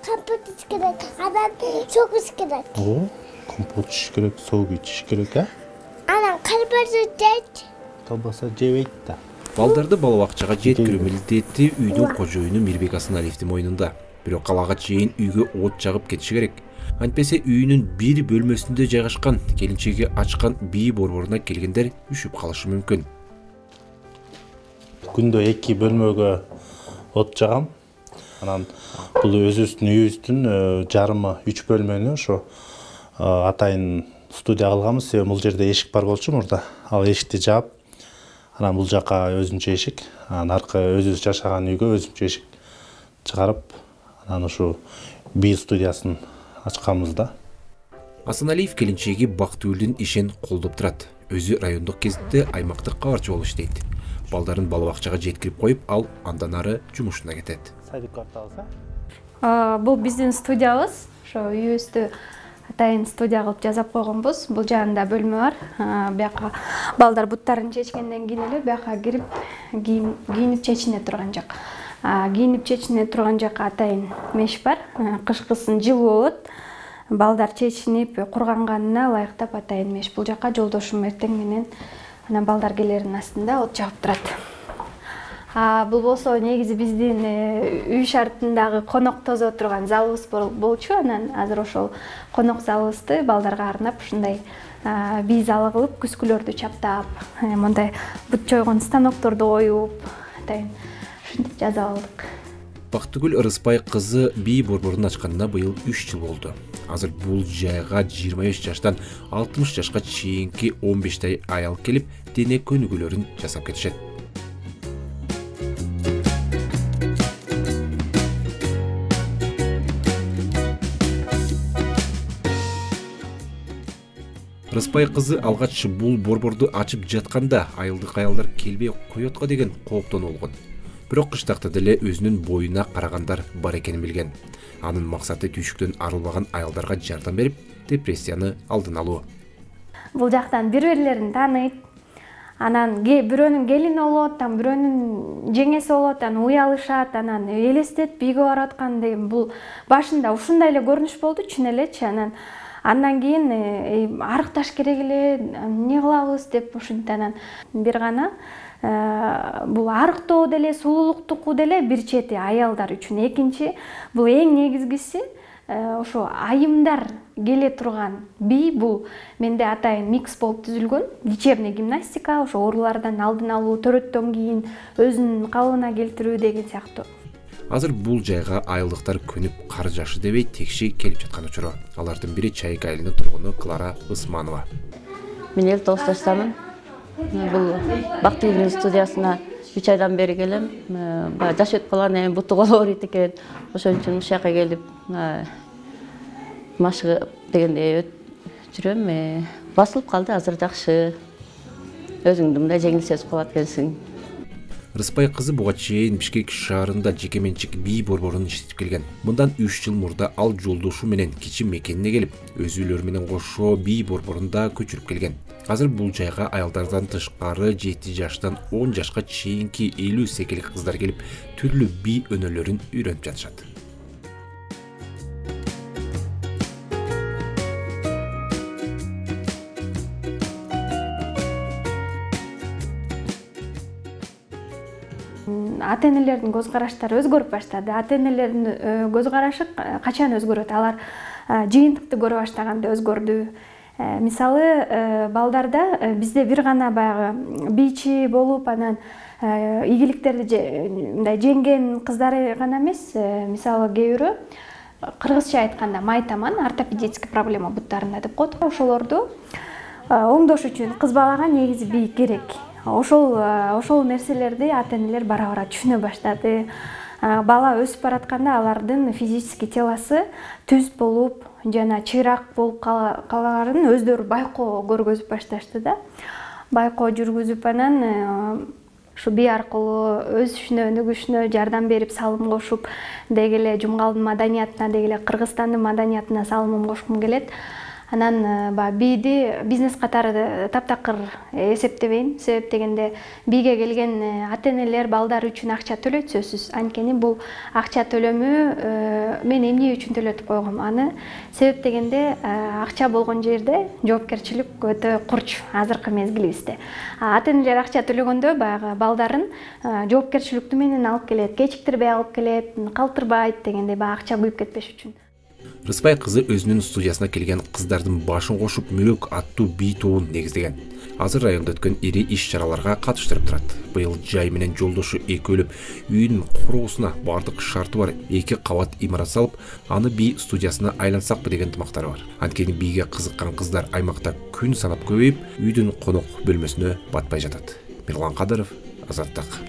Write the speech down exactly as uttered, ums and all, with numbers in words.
компот ич керек, анан сок ич керек. О, компот ич керек, сок ичиш керек, а? Анан колбаса жейт. Колбаса жебейт да. Балдарды бала бакчага жеткирүү милдети үйдүн кожоюну Мирбек Асаналиевдин мойнунда. Бирок калага чейин үйгө от жагып кетиши керек. Антпесе үйүнүн бир бөлмөсүндө жайгашкан келинчеги ачкан бий борборуна келгендер үшүп калышы мүмкүн. Күндө эки бөлмөгө от жагам. Анан бул өзүбүздүн үйүбүздүн жарымы үч бөлмөнү ошо атайын студия кылганбыз. Себеби бул жерде эшик бар болчу мурда. Ал эшикти жаап, анан бул жака өзүнчө эшик, анан аркы өзүбүз жашаган үйгө өзүнчө эшик чыгарып, анан ушу бий студиясын ачканбыз да. Асаналиев келинчеги Бактыгүлдүн ишин колдоп турат. Өзү райондук гезитте аймактык кабарчы болуп иштейт. Балдарын бала бакчага жеткирип коюп, ал андан ары жумушуна кетет. Садик кварталысы. Бул биздин студиябыз. Ошо үйүбүздү атайын студия кылып жасап койгонбуз. Бул жаанда бөлмө бар. Бияка балдар буттарын чечкенден кийин эле бияка кирип кийинип чечине турган жак. Кийинип чечине турган жакка атайын меш бар. Кышкысын жылуу болот. Балдар чечинип курганганына ылайыктап атайын меш. Бул жакка жолдошум эртең менен анан балдар келердин астында от жагып турат. Бул болсо негизи биздин үй шартындагы конок тозо турган залыбыз болчу. Анан азыр ошол конок залыбызды балдарга арнап ушундай бий залы кылып, күскүлөрдү чаптап, мындай бут чойгон станокторду коюп, атайын ушинтип жасап алдык. Бактыгүл Ырыспай кызы бий борборун ачканына быйыл үч жыл болду. Азыр бул жайга жыйырма беш жаштан алтымыш жашка чейинки он бештай аял келип, дене көнүгүүлөрүн жасап кетишет. Ырыспай кызы алгач бул борборду ачып жатканда айылдык аялдар келбей коет го деген кооптон болгон. Бирок кыштакта деле өзүнүн боюна карагандар бар экенин билген. Анын максаты түйшүктөн арылбаган аялдарга жардам берип, депрессияны алдын алуу. Бул жактан бири-бирлерин тааныйт. Анан бирөөнүн келини болот, там бирөөнүн жеңеси болот, анан уялышат, анан элестет бийге барып аткан деген бул башында ушундай эле көрүнүш болду, чын элечи. Анан андан кийин арыкташ керек эле, эмне кылабыз деп ушинтип анан бир гана бул арыктоо деле, сулуулуктуку деле бир чети аялдар үчүн. Экинчи, бул эң негизгиси ошо айымдар келе турган бий бул менде атайын микс болуп түзүлгөн. Лечебный гимнастика, ошо оорулардан алдын алуу, төрөттөн кийин өзүнүн калыбына келтирүү деген сыяктуу. Азыр бул жайга айылдыктар көнүп кар жашы дебей текши келип жаткан учуру. Алардын бири Чайык айылынын тургуну Клара Усманова. Мен элүү тогуз жаштамын. Бул Бактыгүлдүн студиясына үч айдан бери келем. Баягы жаш өтүп калган, эми буту коло ооруйт экен. Ошон үчүн ушул жака келип машыгып дегендей жүрөм. Басылып калды, азыр жакшы. Өзүңдү мындай жеңил сезип калат экенсиң. Ырыспай кызы буга чейин Бишкек шаарында жеке менчик бий борборун иштетип келген. Мындан үч жыл мурда ал жолдошу менен кичи мекенине келип, өз үйлөрү менен кошо бий борборунда көчүрүп келген. Азыр бул жайга аялдардан тышкары жети жаштан он жашка чейинки элүү секилик кыздар келип, түрлүү бий өнөрлөрүн үйрөнүп жатышат. Ата-энелердин көз караштары өзгөрүп баштады. Ата-энелердин көз карашы качан өзгөрөт? Алар жыйынтыкты көрө баштаганда өзгөрдү. Мисалы, балдарда бизде бир гана баягы бийчи болуп, анан ийгиликтерди мындай жеңген кыздары гана эмес, мисалы кээ бирөө кыргызча айтканда майтаман, ортопедический проблема буттарында деп коет. Ошолорду оңдош үчүн кыз балага негизи бий керек. Ошол ошол нерселерди ата-энелер бара-бара түшүнө баштады. Бала өсүп баратканда алардын физический телосы түз болуп, жана чыйрак болуп каларын өздөрү байкоо көргөзүп башташты да. Байкоо жүргүзүп анан ушу бий аркылуу өз ишине өнүгүшүнө жардам берип, салым кошуп, деги эле Жумгалдын маданиятына, деги эле Кыргызстандын маданиятына салымым кошкум келет. Анан баягы бийди бизнес катары таптакыр эсептебейм. Себеп дегенде бийге келген ата энелер балдар үчүн акча төлөйт сөзсүз. Анткени бул акча төлөмү мен эмне үчүн төлөтүп койгом аны? Себеп дегенде акча болгон жерде жоопкерчилик өтө курч азыркы мезгилибизде. Ата энелер акча төлөгөндө баягы балдарын жоопкерчиликтүү менен алып келет, кечиктирбей алып келет, калтырбайт дегендей баягы акча күйүп кетпеш үчүн. Рыспай кызы өзүнүн студиясына келген кыздардын башын кошуп Мүрөк аттуу бий тобун негиздеген. Азыр районда өткөн ири иш-чараларга катыштырып турат. Быйыл Жай менен жолдошу экөөлөп үйдүн куруусуна бардык шарты бар эки кабат имарат салып, аны бий студиясына айлансакпы деген ынтымактары бар. Анткени бийге кызыккан кыздар аймакта күн санап көбөйүп, үйдүн конок бөлмөсүнө батпай жатат. Мирлан Кадыров, Азаттык.